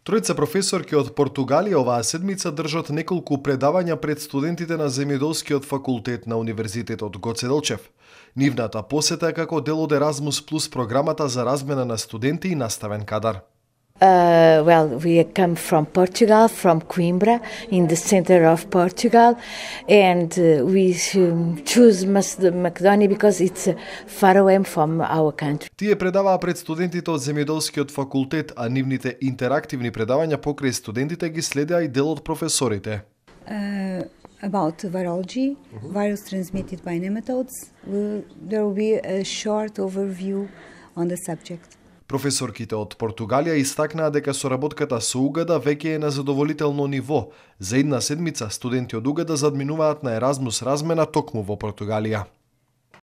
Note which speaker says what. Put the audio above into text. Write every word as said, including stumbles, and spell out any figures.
Speaker 1: Тројца професорки од Португалија оваа седмица држат неколку предавања пред студентите на Земјоделскиот факултет на Универзитетот Гоце Делчев. Нивната посета е како дел од Еразмус плюс програмата за размена на студенти и наставен кадар.
Speaker 2: Uh, well, we come from Portugal, from Coimbra, in the center of Portugal, and uh, we um, choose Macedonia because it's uh, far away from our country.
Speaker 1: Тие предаваа пред студентите од Земјоделскиот факултет, а нивните интерактивни предавања покрај студентите ги следеа и дел од професорите.
Speaker 3: Uh, about virology, mm-hmm. virus transmitted by nematodes, we'll, there will be a short overview on the subject.
Speaker 1: Професорките од Португалија истакнаа дека соработката со Угада веќе е на задоволително ниво. За една седмица студенти од Угада задминуваат на Еразмус размена токму во Португалија.